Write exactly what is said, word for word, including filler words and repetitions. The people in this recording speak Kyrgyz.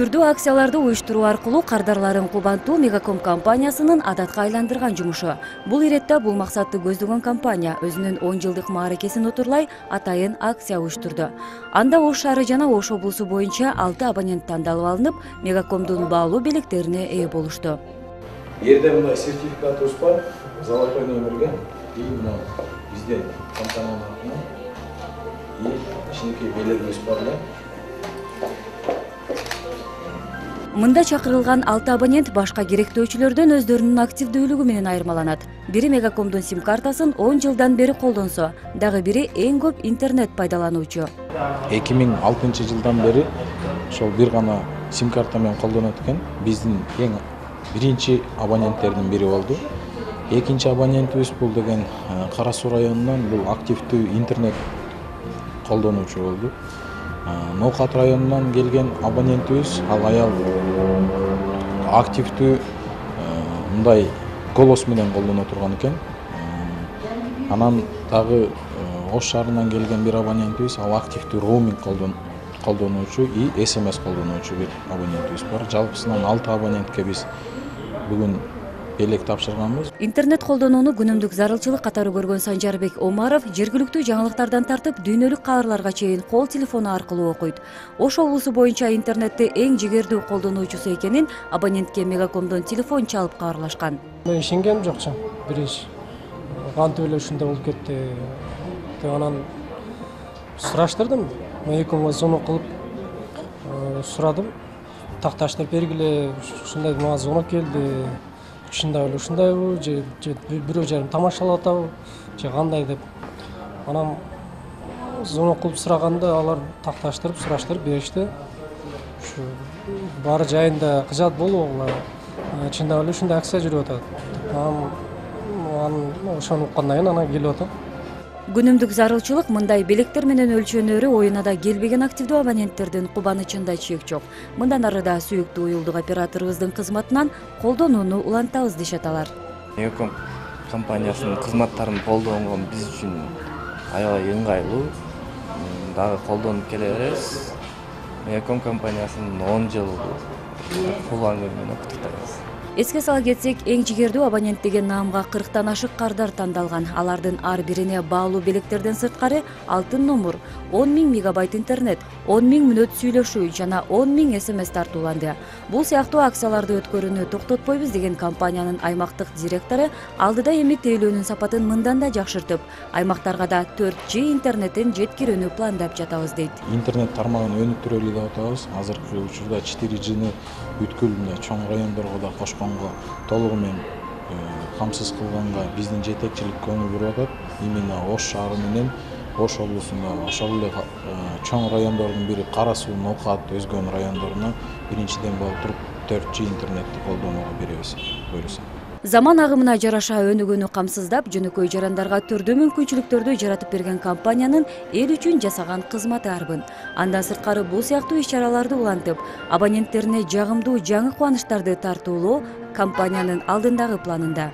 Түрдүү акцияларды уюштуруу аркылуу кардарларын кубантуу Мегаком компаниясынын адатка айландырган жумушу. Бул иретте бул максатты көздөгөн компания өзүнүн он жылдык мааракесин отурлай атайын акция уюштурду. Анда Ош шаары жана Ош облусу боюнча алты абонент тандалып алынып, Мегакомдун баалуу белектерине ээ болушту. Жерде мындай сертификатыбыз бар, золотой номерге, и мына бизден компаниянын атынан и кичинекей белегибиз бар да. Мында чакырылган алты абонент башка керектөөчүлөрдөн өздөрүнүн активдүүлүгү менен айырмаланат. Бири Мегакомдун сим картасын он жылдан бери колдонсо, дагы бири эң көп интернет пайдалануучу. эки миң алтынчы жылдан бери ошол бир гана сим карта менен колдонот экен. Биздин эң биринчи абоненттердин бири болду. Экинчи абонентибиз бул деген Кара Суу районунан бул активдүү интернет колдонуучу болду. Ноокат районунан келген абонентибиз ал аял активдүү мындай голос менен колдоно турган экен. Анан дагы Ош шаарынан келген бир абонентибиз ал активдүү роуминг колдонуучу и смс колдонуучу бир абонентибиз бар. Жалпысынан алты абонентке биз бүгүн белек тапшырганбыз. Интернет колдонууну күнүмдүк зарылчылык катары көргөн Санжарбек Омаров жергиликтүү жаңылыктардан тартып дүйнөлүк кабарларга чейин кол телефону аркылуу окуйт. Ош облусу боюнча интернетти эң жигердүү колдонуучусу экенин абонентке Мегакомдон телефон чалып кабарлашкан. Мен ишенгем жокчу. Биринчи кантип эле ушундай болуп кетти деп анан сураштырдым. Мегакомго звонок кылып сурадым. Такташтырып бергиле, ушундай мага звонок келди. Ушундай эле ушундайбы же бирөө жарым тамашалап атабы же кандай деп анан звонок кылып сураганда алар такташтырып сураштырып беришти. Ушу баары жайында кыжат болобу, чындап эле ушундай акция жүрүп атат. Анан ошону уккандан кийин анан келип атам. Күнүмдүк зарылчылык мындай белектер менен өлчөнөрү оюна да келбеген активдүү абоненттердин кубанычында чек жок. Мындан ары да сүйүктүү уюлдук операторубуздун кызматынан колдонууну улантабыз дешет алар. Мегаком компаниясынын кызматтарын колдонгон биз үчүн аябай ыңгайлуу. Дагы колдонуп келе беребиз. Мегаком компаниясынын он жыл туулган күнү менен куттуктайбыз. Эске сала кетсек, эң жигердүү абонент деген наамга кырктан ашык кардар тандалган. Алардын ар бирине баалуу белектерден сырткары алтын номур, он миң мегабайт интернет, он миң мүнөт сүйлөшүү жана он миң смс тартууланды. Бул сыяктуу акцияларды өткөрүүнү токтотпойбуз деген компаниянын аймактык директору алдыда эми тейлөөнүн сапатын мындан да жакшыртып, аймактарга да төрт жи интернетин жеткирүүнү пландап жатабыз дейт. Интернет тармагын өнүктүрөлү деп атабыз. Азыркы учурда четыре жини бүткүл чоң райондорго да кошконго толугу менен камсыз кылганга биздин жетекчилик көңүл буруп атат. Именно Ош шаары менен Ош облусунда ошол эле чоң райондордун бири Кара Суу, Ноокат өзгөн райондоруна биринчиден болуп төрт жи интернетти колдонууга беребиз буюрса. Заман агымына жараша өнүгүүнү камсыздап, жөнөкөй жарандарга түрдүү мүмкүнчүлүктөрдү жаратып берген компаниянын эл үчүн жасаган кызматы арбын. Андан сырткары бул сыяктуу иш-чараларды улантып, абоненттерине жагымдуу жаңы кубанычтарды тартуулоо компаниянын алдындагы планында.